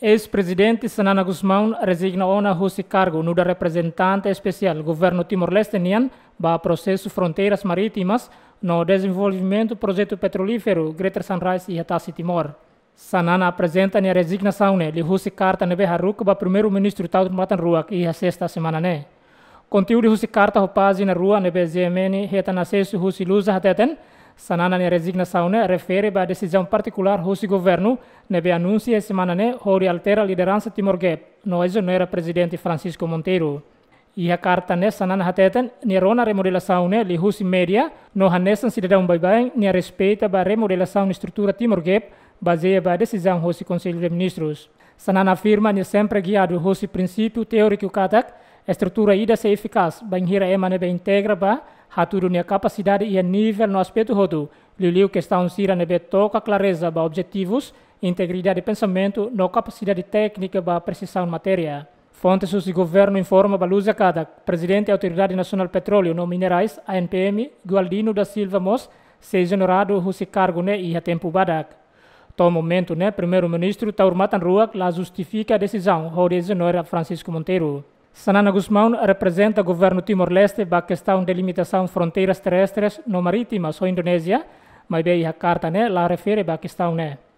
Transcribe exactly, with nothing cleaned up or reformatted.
Eis-Prezidente Xanana Gusmão rezigna ona husi kargu nu'udar reprezentante espesiál Governu Timor-Leste nian ba prosesu fronteiras marítimas no dezenvolvimentu projetu petrolíferu Greater Sunrise iha tasi Timor. Xanana aprezenta nia rezignasaun ne'e liuhusi karta ne'ebé haruka ba Primeiru-Ministru Taur Matan Ruak iha sesta semana ne'e. Konteúdu husi karta ho pájina rua ne'ebé G M N hetan asesu husi Lusa hateten, Xanana nia rezignasaun ne'e refere ba desizaun partikulár husi governu ne'ebé anunsia semana ne'e hodi altera lideransa Timor Gap no ezonera Prezidente Francisco Monteiro. Iha karta ne'e Xanana hateten nia rona remodelasaun ne'e liuhusi média no hanesan sidadaun baibain nia respeita ba remodelasaun estrutura Timor Gap bazeia ba desizaun husi Konsellu de Ministrus. Xanana afirma nia sempre giadu husi prinsípiu teóriku katak estrutura ida sei efikás bainhira ema ne'ebé integra ba hatudu nia kapasidade iha nivel no aspetu hotu, liuliu kestaun sira ne'ebé toka klareza ba objetivus, integridade pensamentu no kapasidade téknika ba presizaun matéria. Fontes husi governu informa ba Lusa katak Prezidente Autoridade Nasionál Petróleu no Minerais, A N P M, Gualdino da Silva mós sei ezoneradu husi kargu ne'e iha tempu badak. To'o momentu ne'e Primeiru-Ministru Taur Matan Ruak la justifika desizaun hodi ezonera Francisco Monteiro. Xanana Gusmão reprezenta governu Timor-Leste ba kestaun delimitasaun fronteiras terrestres no marítimas ho Indonézia, maibé iha karta ne'e la refere ba kestaun ne'e.